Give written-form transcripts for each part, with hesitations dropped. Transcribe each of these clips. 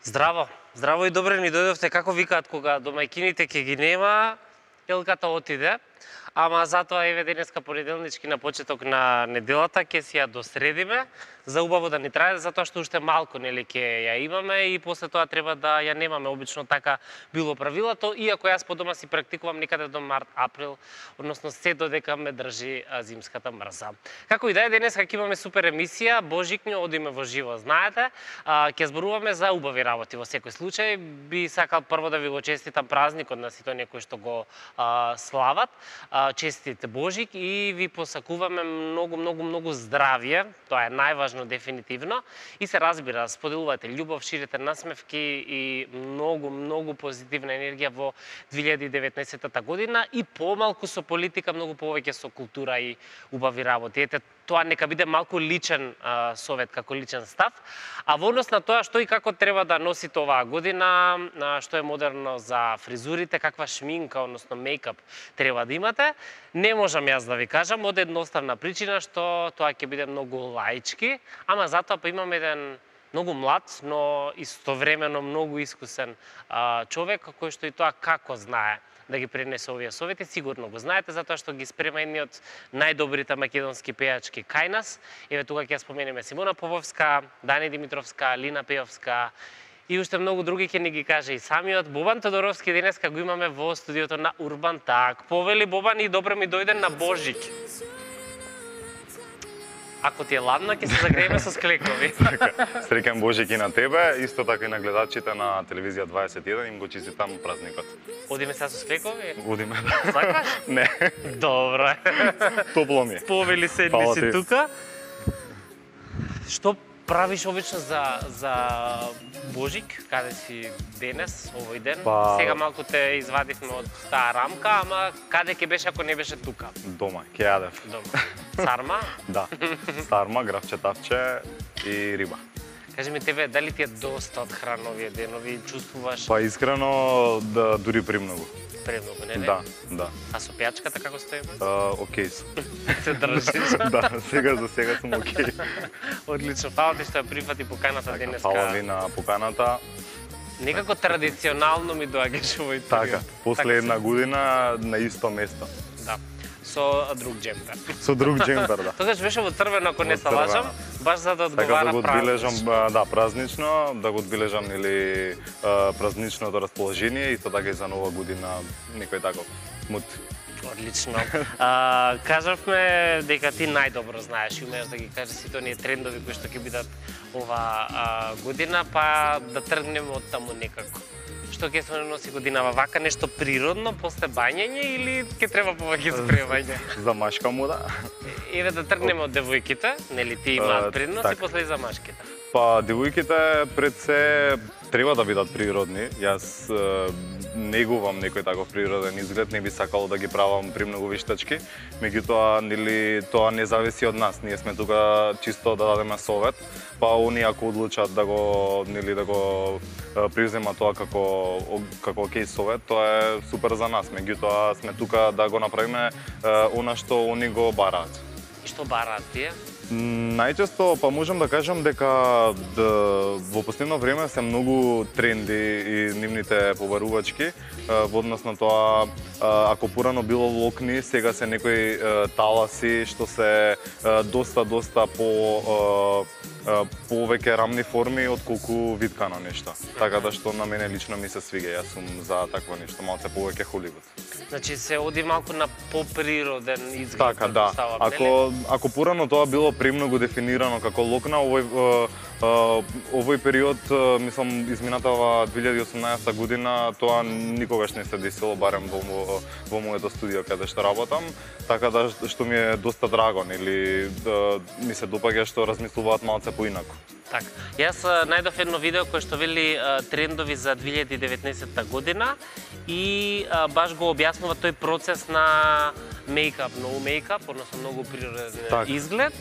Здраво, здраво и добре ни дојдовте, како викаат кога домајкините ќе ги нема, елката отиде. Ама затоа еве денеска понеделнички на почеток на неделата ќе си ја досредиме, за убаво да ни трае, затоа што уште малку нели ќе ја имаме и после тоа треба да ја немаме. Обично така било правилото, иако јас по дома си практикувам некаде до март, април, односно се додека ме држи зимската мрза. Како и да е, денеска ќе имаме супер емисија, Божикњо, одиме во живо, знаете, ќе зборуваме за убави работи во секој случај. Би сакал прво да ви го честитам празникот на сите оние кои што го слават. Честит Божик и ви посакуваме многу здравје, тоа е најважно дефинитивно, и се разбира, споделувајте љубов, ширите насмевки и многу позитивна енергија во 2019 година и помалку со политика, многу повеќе со култура и убави работи. Ете, тоа нека биде малку личен совет, како личен став, а во однос на тоа што и како треба да носите оваа година, што е модерно за фризурите, каква шминка, односно мејкап треба да имате, не можам јас да ви кажам од едноставна причина што тоа ќе биде многу лаички, ама затоа па имам еден многу млад, но истовремено многу искусен човек кој што и тоа како знае да ги пренесе овие совети, сигурно го знаете, затоа што ги спрема едни од најдобрите македонски пејачки кај нас. Еве тука ќе споменеме Симона Поповска, Дани Димитровска, Лина Пејовска и уште многу други ќе ни ги каже и самиот Бобан Тодоровски. Денеска го имаме во студиото на Урбан Так. Повели Бобан и добро ми дојде на Божик. Ако ти е ладно, ќе се загрееме со склекови. Среќен Божик и на тебе, исто така и на гледачите на телевизија 21, им го честитам празникот. Одиме сега со склекови? Одиме. Сакаш? Не. Добро. Топло ми. Повели седмици тука. Што правиш обично за Божик, каде си денес, овој ден? Сега малку те извадивме од таа рамка, ама каде ќе беше ако не беше тука? Дома, ќе јадев. Дома. Сарма? Да. Сарма, гравче, тавче и риба. Кажи ми тебе, дали ти е доста од храна овие денови, чувствуваш? Па искрено, да, дури премногу. Премногу, не? Да. А со пејачката како стоиме? Окей сум. Се држиш? Да, за сега сум окей. Одлично, фала ти што ја прифати поканата денеска. Фала ви на поканата. Некако традиционално ми доаѓаш овој период. Така, после една година на исто место. Да. Со друг джемпер. Со друг джемпер, да. Тогаш беше во црвено, ако не се лажам, баш за да одговара да го одбележам, празнично. да, празнично, да го одбележам или празничното расположение и тоа така и за нова година некој таков мут. Одлично. Кажавме дека ти најдобро знаеш и умееш да ги кажеш сите оние трендови кои што ќе бидат ова година, па да тргнеме од таму некако. Што ќе се носи годинава вака, нешто природно после бањење или ќе треба повеќе спремање? За машка мода. Еве да тргнеме од девојките, нели ти имаат предност и после и за машките. Па девојките пред се треба да бидат природни. Јас негувам некој таков природен изглед, не би сакал да ги правам премногу вештачки, меѓутоа нели тоа не зависи од нас. Ние сме тука чисто да дадеме совет, па они ако одлучат да го превземат тоа како окей совет, тоа е супер за нас. Меѓутоа сме тука да го направиме она што они го бараат. И што бараат тие? Најчесто па можам да кажам дека во последно време се многу тренди и нивните побарувачки во однос на тоа, ако порано било локни, сега се некои таласи што се доста повеќе рамни форми отколку виткано нешто. Така да што на мене лично ми се свига, јас сум за такво нешто, малце повеќе Холивуд. Значи се оди малку на поприроден изглед. Така, да. Ако порано тоа било премногу дефинирано како локна, овој период, мислам, изминатава 2018 година, тоа никогаш не се десило, барем во моето студио каде што работам, така да што ми е доста драго, или ми се допаѓа што размислуваат малце поинаку. Така. Јас најдов едно видео кое што вели трендови за 2019 година и баш го објаснува тој процес на мејкап, ново мејкап, односно многу природен изглед.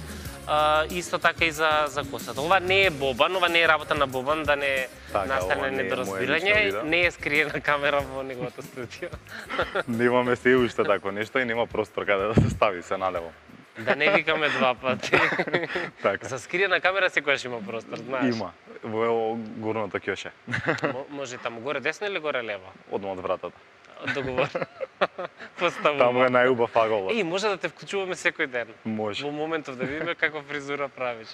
Исто така и за косата. Ова не е Бобан, ова не е работа на Бобан, да не настане недоразбирање, не е скриена камера во неговото студио. Немаме се уште такво нешто и нема простор каде да се стави, се надевам. Да не викаме два пати. Така. За скриена камера секојаш има простор, знаеш. Има. Во горното ќоше. Може таму горе десно или горе лево? Одма од вратата. Договор. Поставувам. Таму е најубав аголот. Може да те вклучуваме секој ден. Може. Во моментов да видиме каква фризура правиш.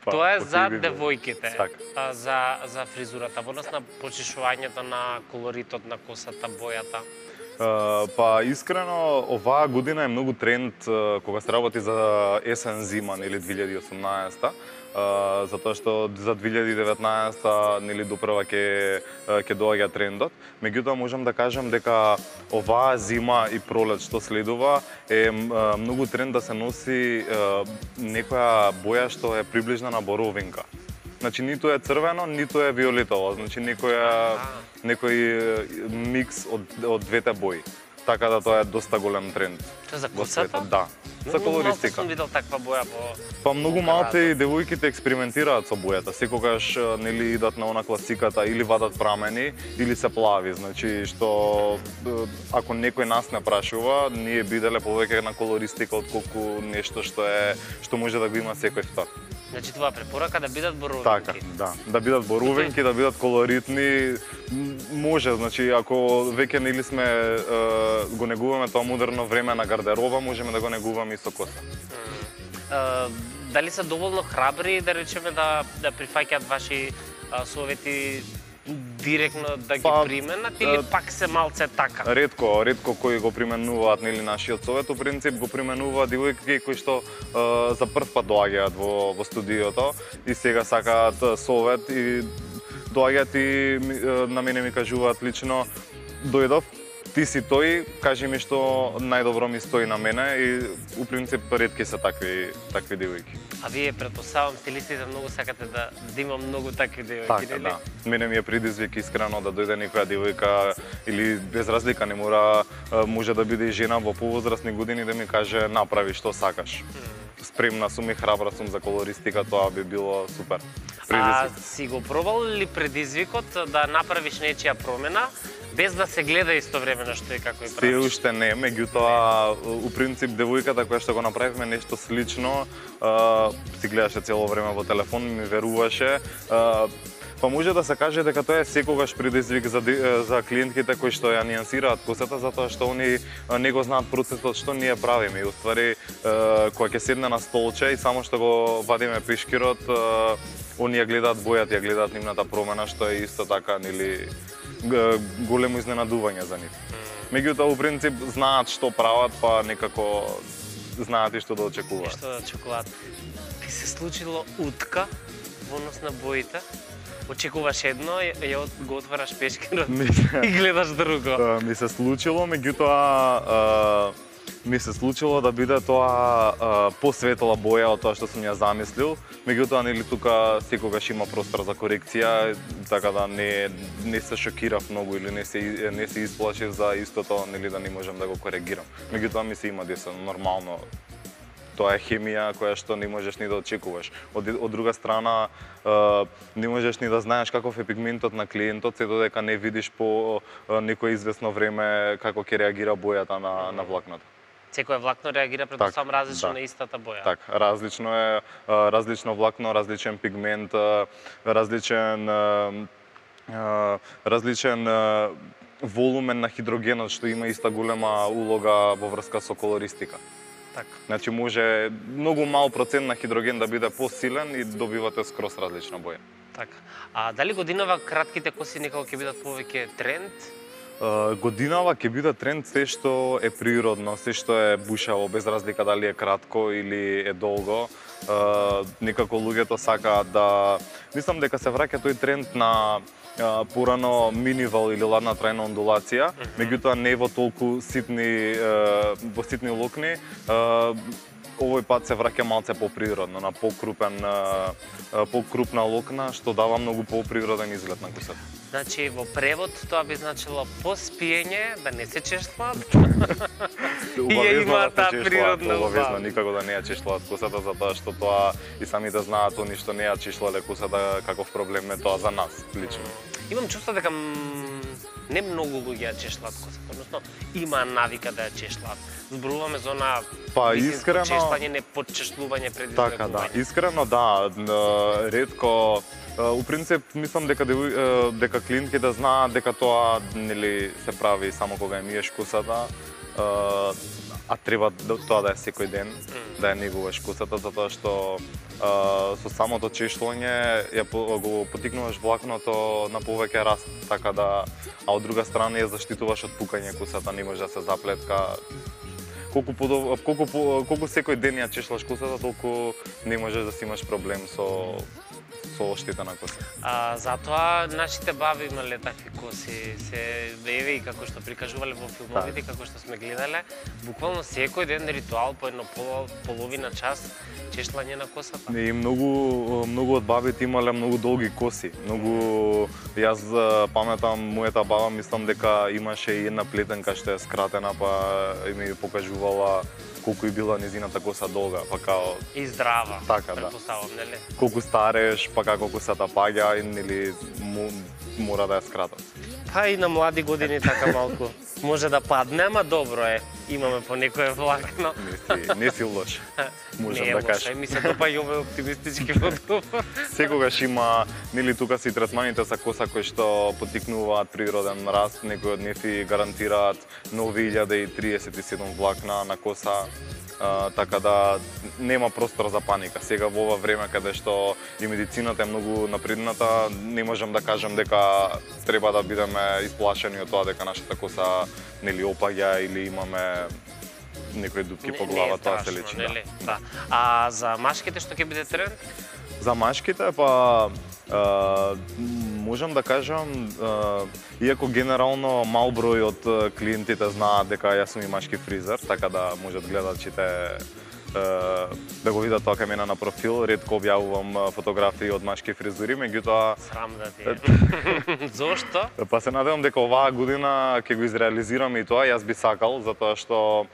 Па, Тоа е по за тебе би било. девојките. Така. За фризурата, во однос на почешувањето на колоритот на косата, бојата. Па искрено оваа година е многу тренд кога се работи за есен зима нели 2018-та. Затоа што за 2019-та нели допрва ќе доаѓа трендот. Меѓутоа можам да кажам дека оваа зима и пролет што следува е многу тренд да се носи некоја боја што е приближна на боровинка. Значи ниту е црвено, ниту е виолетово, значи некој микс од двете бои. Така да тоа е доста голем тренд. Тоа за косата? Да. За колористика. Сум видел таква боја по. Па многу малку и девојките експериментираат со бојата. Секогаш нели идат на она класиката или вадат прамени или се плави. Значи што ако некој нас не прашува, ние биделе повеќе на колористика отколку нешто што може да го има секој втор. Значи тоа препорака да бидат боровинки. Така, да. Да бидат боровинки, да бидат колоритни. Може, значи ако веќе нели сме го негуваме тоа модерно време на гардероба, можеме да го негуваме и со коса. Дали се доволно храбри да речеме да прифаќаат ваши совети директно да ги применат или пак се малце така? Ретко кои го применуваат нели нашиот совет, по принцип го применуваат девојки кои што за прв пат доаѓаат во студиото и сега сакаат совет и доаѓаат и на мене ми кажуваат лично дојдов, ти си тој, кажи ми што најдобро ми стои на мене и у принцип ретки се такви девојки. А вие претпоставам стилистите многу сакате да има многу такви девојки, така, нели? Да. Мене ми е предизвик искрено да дојде некоја девојка или без разлика не мора, може да биде и жена во повозрастни години да ми каже направи што сакаш. Спремна сум и храбра сум за колористика, тоа би било супер. А си го пробал ли предизвикот да направиш нечија промена без да се гледа истовремено што и како и правиш? Се уште не, меѓутоа у принцип девојката која што го направивме нешто слично, си гледаше цело време во телефон, ми веруваше. Па може да се каже дека тоа е секогаш предизвик за клиентките кои што ја нијансираат косата, затоа што они не го знаат процесот што ние правиме. И уствари кога ќе седне на столче и само што го вадиме пишкирот, они ја гледаат бојата, ја гледаат нивната промена, што е исто така нели големо изненадување за нив. Меѓутоа, у принцип, знаат што прават, па некако знаат и што да очекуваат. Што да очекуваат. Ти се случило утка во однос на боите? Очекуваш едно, ја го отвараш пешкирот и гледаш друго. Ми се случило, меѓутоа ми се случило да биде тоа посветла боја од тоа што сум ја замислил. Меѓутоа нели тука секогаш има простор за корекција, така да не се шокирав многу или не се исплашив за истото, нели да не можам да го коригирам. Меѓутоа ми се има десен нормално. Тоа е хемија која што не можеш ни да очекуваш. Од друга страна, не можеш ни да знаеш каков е пигментот на клиентот, се додека не видиш по некое известно време како ќе реагира бојата на влакното. Секој влакно реагира предпоставам различно на истата боја. Така, различно е, различно влакно, различен пигмент, различен волумен на хидрогенот што има иста голема улога во врска со колористика. Така. Значи може многу мал процент на хидроген да биде посилен и добивате скрос различна боја. Така. А дали годинава кратките коси некако ќе бидат повеќе тренд? Годинава ќе биде тренд се што е природно, се што е бушаво, без разлика дали е кратко или е долго. Некако луѓето сакаат да... Мислам дека се враќа тој тренд на порано минивал или ладна трајна ондулација, меѓутоа не во толку ситни локни. Овој пат се враќа малце поприродно, на покрупна локна, што дава многу поприроден изглед на косата. Значи, во превод тоа би значило поспиење, да не се чешлат. И ја има таа природна убава. Никако да не ја чешлат косата, затоа што тоа и самите знаат, они што не ја чешлале косата, каков проблем е тоа за нас, лично. Имам чувство дека не многу луѓе ја чешлат косата, односно има навика да ја чешлат. Зборуваме за она Па вистинско искрено чешлање, не подчешлување пред така да, излегување. искрено да, ретко у принцип мислам дека клиентките знаат дека тоа нели се прави само кога ја миеш косата, а треба тоа да е секој ден, да ја негуваш косата, затоа што со самото чешлање го потикнуваш влакното на повеќе раст, така да, а од друга страна ја заштитуваш од пукање косата, не може да се заплетка. Колку секој ден ја чешлаш косата, толку не можеш да си имаш проблем со оштета на коса. Затоа нашите баби имале такви коси, се еве и како што прикажувале во филмовите, како што сме гледале, буквално секој ден ритуал по едно половина час чешлање на косата. И многу од бабите имале многу долги коси. Јас паметам мојата баба, мислам дека имаше и една плетенка што е скратена, па ми покажувала колку и била незината коса долга, па као И здрава. Така, да. Претпоставам, нели? колку стареш, па како косата паѓа, или мора да ја скратат. Па и на млади години така малку може да падне, ама добро е. Имаме по некое влакно. Не си лош, можам Не е да лошо, кажам. ми се допаѓа овој оптимистички одговор. Секогаш има, нели тука си третманите за коса кои што потикнуваат природен раст, некои од нив и гарантираат нови 1037 влакна на коса. Така да нема простор за паника. Сега во ова време каде што и медицината е многу напредната, не можам да кажам дека треба да бидеме исплашени од тоа дека нашата коса нели опаѓа или имаме некои дупки по глава, тоа се лечи. Нели? Да. А за машките што ќе биде тренд? За машките, па можам да кажам, иако генерално мал број од клиентите знаат дека јас сум и машки фризер, така да можат гледачите да го видат тоа кај мене на профил, ретко објавувам фотографии од машки фризури, меѓутоа Срам да ти е. Зошто? па се надевам дека оваа година ќе го изреализираме и тоа, јас би сакал, затоа што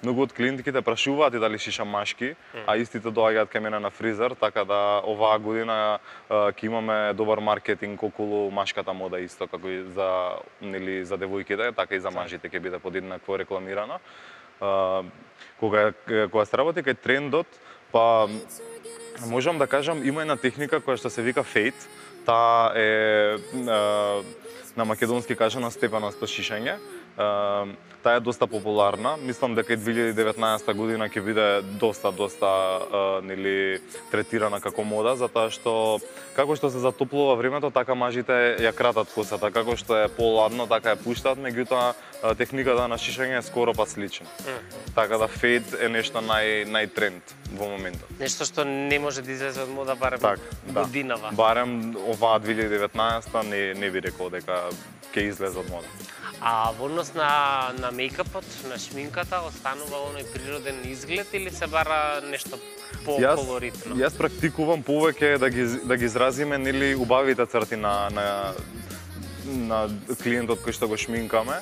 многу од клиентките прашуваат и дали шишам машки, а истите доаѓаат кај мене на фризер, така да оваа година ќе имаме добар маркетинг околу машката мода исто како и за нели за девојките, така и за мажите ќе биде подеднакво рекламирано. Кога се работи кај трендот, па можам да кажам има една техника која што се вика фейт. Таа е на македонски кажано степено шишање. Таа е доста популарна. Мислам дека и 2019 година ќе биде доста нели третирана како мода, затоа што како што се затоплува времето, така мажите ја кратат косата, како што е поладно, така ја пуштаат, меѓутоа техниката на шишање е скоро па слична. Така да фейд е нешто најтренд во моментот. Нешто што не може да излезе од мода барем годинава. Барем оваа 2019 не би рекол дека ќе излезе од мода. А во однос на мејкапот, на шминката, останува оној природен изглед или се бара нешто по-колоритно? Јас практикувам повеќе да ги изразиме нели убавите црти на клиентот кој што го шминкаме.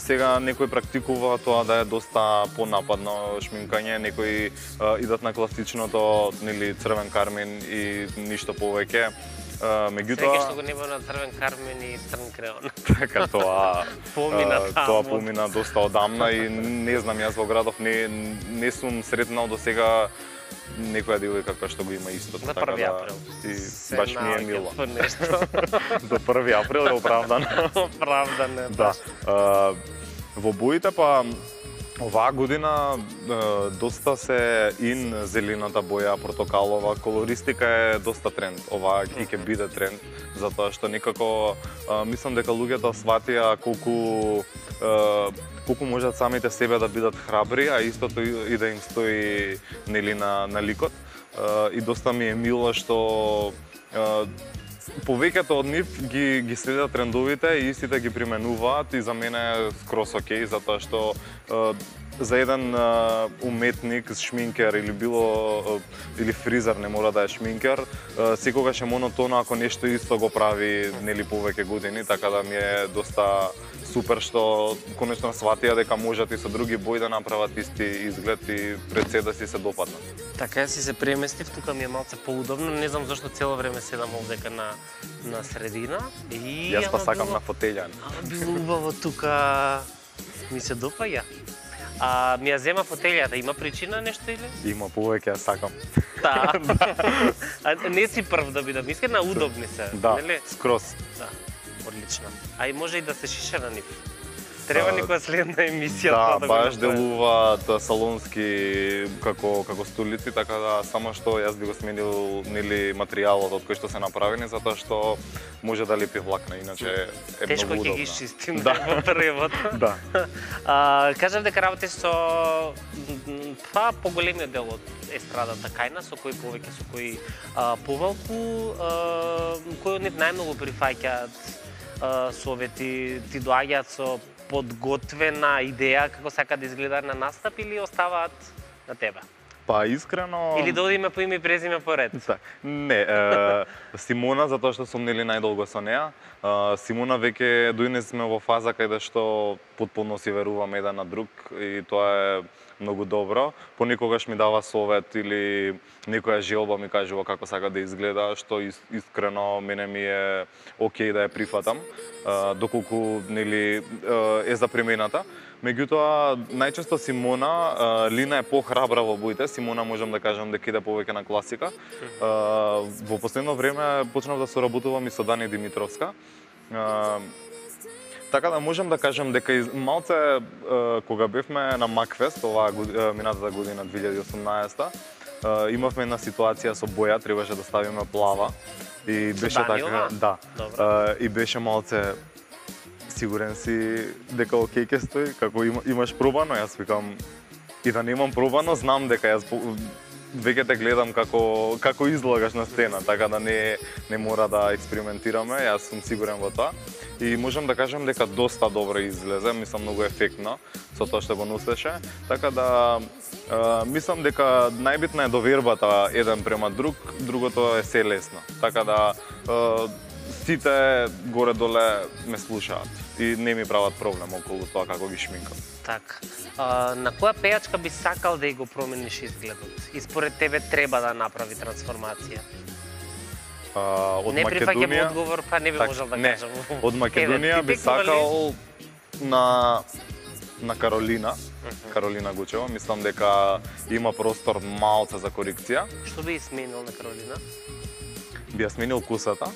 Сега некој практикува тоа да е доста понападно шминкање, некои идат на класичното, нели црвен кармин и ништо повеќе. Среќа што го нема на црвен кармен и црн креон. Така тоа помина помина доста одамна и не знам, јас во градов не сум сретнал до сега некоја девојка која што го има истото. За 1 април. И баш ми е мило. За 1 април е оправдано. Оправдано е. Да. Во боите па оваа година доста се зелената боја, портокалова, колористика е доста тренд. Оваа и ќе биде тренд, затоа што некако мислам дека луѓето сватија колку можат самите себе да бидат храбри, а истото и да им стои нели на ликот. И доста ми е мило што повеќето од нив ги следат трендовите и истите ги применуваат и за мене е скрос окей, затоа што за еден уметник, шминкер или фризер, не мора да е шминкер, секогаш е монотоно ако нешто исто го прави нели повеќе години, така да ми е доста супер што конечно сватија дека можат и со други бои да направат исти изглед и пред се да си се допаднат. Така ја си се преместив, тука ми е малце поудобно, не знам зашто цело време седам овдека на средина. И Јас па сакам на фотелја. Било убаво тука, ми се допаѓа. Ми ја зема фотелјата, има причина нешто или? Има повеќе, ја сакам. Да. Не си прв да бидам искрена, удобни се, Да, нели? скроз. Да, одлично. А и може и да се шише на нив. Треба никоја следна емисија да, да баш го делуваат салонски како столици, така да само што јас би го сменил нели материјалот од кој што се направени, затоа што може да лепи влакна, иначе е тешко многу удобно. ќе ги чистим Да. во превод. Да. Кажав дека работиш со поголемиот дел од естрадата кај нас, со кои повеќе, со кои повалку, кои од нив најмногу прифаќаат совети, ти доаѓаат со подготвена идеја како сака да изгледа на настап или оставаат на тебе? Па искрено Или да одиме по име и презиме поред? Не, Симона затоа што сум нели најдолго со неа. Симона веќе дојде сме во фаза каде што потполно си веруваме еден на друг и тоа е многу добро. Понекогаш ми дава совет или некоја желба ми кажува како сака да изгледа, што искрено мене ми е окей да ја прифатам, доколку нели е за премената. Меѓутоа, најчесто Симона, Лина е похрабра во боите, Симона можам да кажам дека иде повеќе на класика. Во последно време почнав да соработувам и со Дани Димитровска. Така да можам да кажам дека малце кога бевме на Макфест, минатата година 2018, имавме една ситуација со боја, требаше да ставиме плава и беше така, да. И беше малце сигурен си дека окей ќе стои, како имаш пробано, јас викам и да немам пробано, знам дека јас веќе те гледам како излагаш на сцена, така да не мора да експериментираме, јас сум сигурен во тоа. И можам да кажам дека доста добро излезе, мислам многу ефектно со тоа што го носеше, така да мислам дека најбитна е довербата еден према друг, другото е се лесно. Така да сите горе-доле ме слушаат и не ми прават проблем околу тоа како ги шминкам. Така. На која пејачка би сакал да го промениш изгледот? И според тебе треба да направи трансформација? Од не прифаќам Македонија, одговор, па не би можел да кажам. Од Македонија би сакал на Каролина. Каролина Гучева, мислам дека има простор малце за корекција. Што би сменил на Каролина? Би ја сменил косата.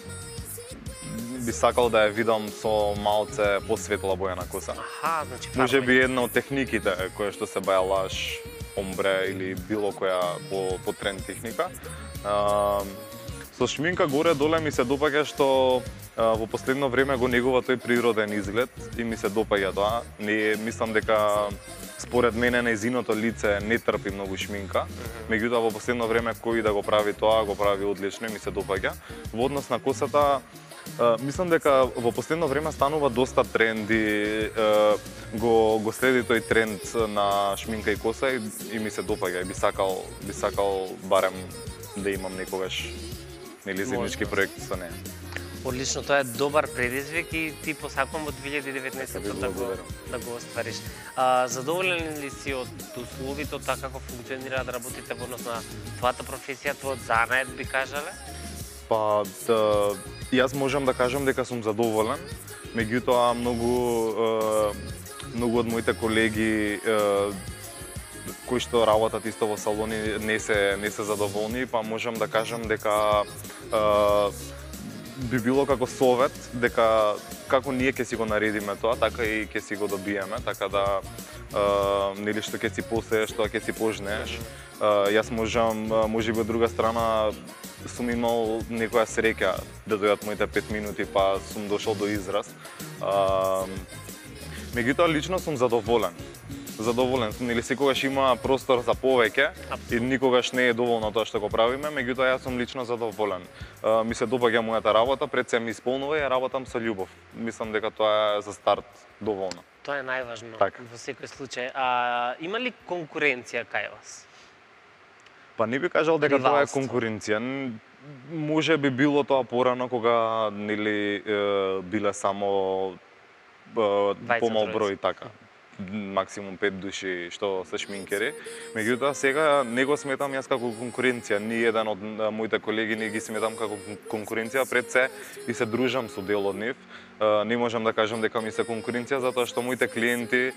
Би сакал да ја видам со малце посветла боја на коса. Аха, значи Може би една од техниките која што се бајалаш омбре или било која по тренд техника. Со шминка горе-доле ми се допаѓа што во последно време го негува тој природен изглед и ми се допаѓа тоа. Мислам дека според мене нејзиното лице не трпи многу шминка, меѓутоа во последно време кој да го прави тоа, го прави одлично и ми се допаѓа. Во однос на косата, мислам дека во последно време станува доста тренди, го следи тој тренд на шминка и коса и ми се допаѓа и би сакал барем да имам некогаш нели заеднички проекти со неа. Одлично, тоа е добар предизвик и ти посакувам од 2019 да го оствариш. Задоволен ли си од условите, од тоа како функционира да работите во однос на твојата професија, твојот занает би кажале? Па, јас можам да кажам дека сум задоволен, меѓутоа многу од моите колеги кои што работат исто во салони не се задоволни, па можам да кажам дека би било како совет дека како ние ќе си го наредиме тоа, така и ќе си го добиеме, така да нели што ќе си посееш, тоа ќе си пожнееш. Јас можеби од друга страна сум имал некоја среќа да дојдат моите 5 минути, па сум дошол до израз. Меѓутоа лично сум задоволен. Нели секогаш има простор за повеќе и никогаш не е доволно тоа што го правиме, меѓутоа јас сум лично задоволен. Ми се допаѓа мојата работа, пред се ми исполнува и ја работам со љубов. Мислам дека тоа е за старт доволно. Тоа е најважно Така. во секој случај. Има ли конкуренција кај вас? Па не би кажал дека тоа е Ривалство. конкуренција. Може би било тоа порано кога нели биле само помал тројца. број така. Максимум 5 души што се шминкери. Меѓутоа сега не го сметам јас како конкуренција. Ни еден од моите колеги не ги сметам како конкуренција, пред се и се дружам со дел од нив. Не можам да кажам дека ми се конкуренција затоа што моите клиенти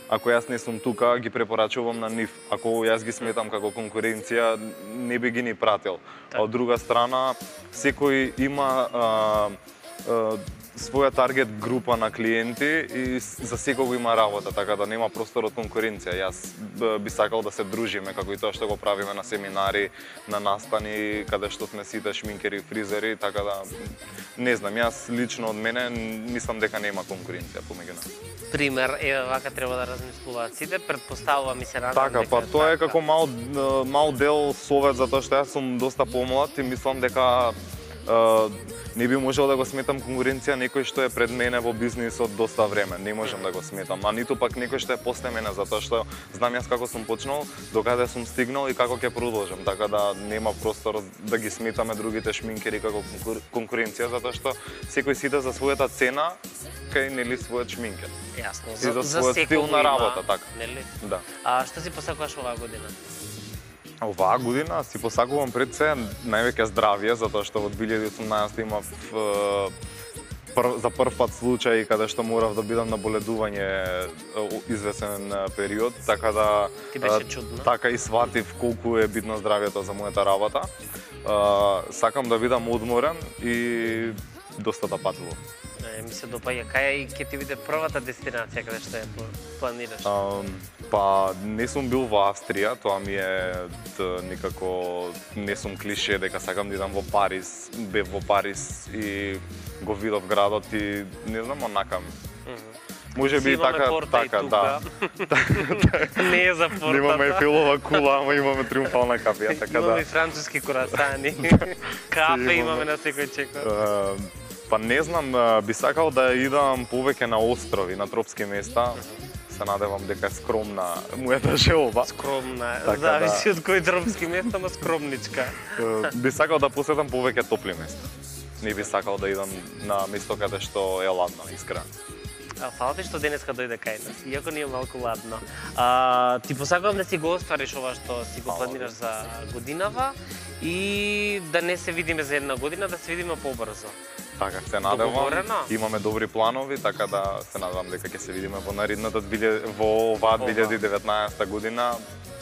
ако јас не сум тука ги препорачувам на нив. Ако јас ги сметам како конкуренција не би ги ни пратил. А од друга страна секој има своја таргет група на клиенти и за секого има работа, така да нема простор од конкуренција. Јас би сакал да се дружиме, како и тоа што го правиме на семинари, на настани, каде што сме сите шминкери, фризери, така да не знам, јас лично од мене мислам дека нема конкуренција помеѓу нас. Пример, вака треба да размислуваат сите, предпоставувам и се надам Така, дека па тоа е така. како мал дел совет затоа што јас сум доста помлад и мислам дека не би можел да го сметам конкуренција некој што е пред мене во бизнисот доста време. Не можам да го сметам, а ниту пак некој што е после мене, затоа што знам јас како сум почнал, докаде сум стигнал и како ќе продолжам. Така да нема простор да ги сметаме другите шминкери како конкуренција, затоа што секој сиде за својата цена кај нели својот шминкер. Јасно, И за својот стил на работа, така. Нели? Да. Што си посакуваш оваа година? Оваа година си посакувам пред се највеќе здравје, затоа што во 2018 имав за прв пат случај каде што морав да бидам на боледување извесен период, така да Ти беше чудно. така и сватив колку е битно здравјето за мојата работа. Сакам да бидам одморен и доста да патувам. Ми се допаѓа. Кај ќе ти биде првата дестинација каде што ја планираш? Па не сум бил во Австрија, тоа ми е никако не сум клише дека сакам да идам во Париз. Бев во Париз и го видов градот и не знам онака. Може би така, да. Не е за портата. Немаме Ефелова кула, ама имаме триумфална капија, така да. Имаме и француски корасани. Кафе имаме на секој чекор. Па не знам, би сакал да идам повеќе на острови, на тропски места. Се надевам дека е скромна мојата желба. Скромна, Така зависи од кој тропски места, ама скромничка. Би сакал да посетам повеќе топли места. Не би сакал да идам на место каде што е ладно, искрено. Фала ти што денеска дојде кај нас, иако ни е малку ладно. Ти посакувам да си го оствариш ова што си го планираш за годинава и да не се видиме за една година, да се видиме побрзо. Така, се надевам. Договорено? Имаме добри планови, така да се надевам дека ќе се видиме во наредната во оваа 2019 година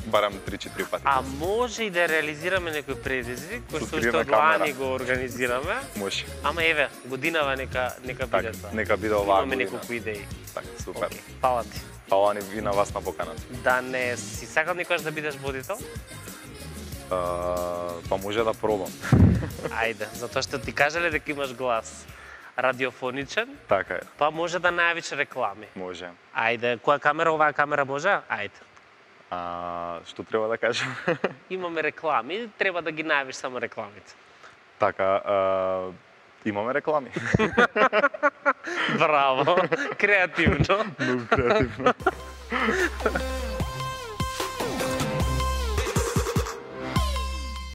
барем 3-4 пати. А може и да реализираме некој предизвик, кој Со што скриена од камера. лани го организираме. Може. Ама еве, годинава нека биде Така, тоа. нека биде оваа Имаме година. неколку идеи. Така, супер. Океј, фала ти. Фала ни и на вас на поканата. Да не си сакал никогаш да бидеш водител? Па може да пробам. Ајде, затоа што ти кажале дека имаш глас радиофоничен, Така е, па може да најавиш реклами. може. Ајде, која камера, оваа камера може? Ајде. Што треба да кажам? Имаме реклами, треба да ги најавиш само рекламите. Така, имаме реклами. Браво, креативно. Многу креативно.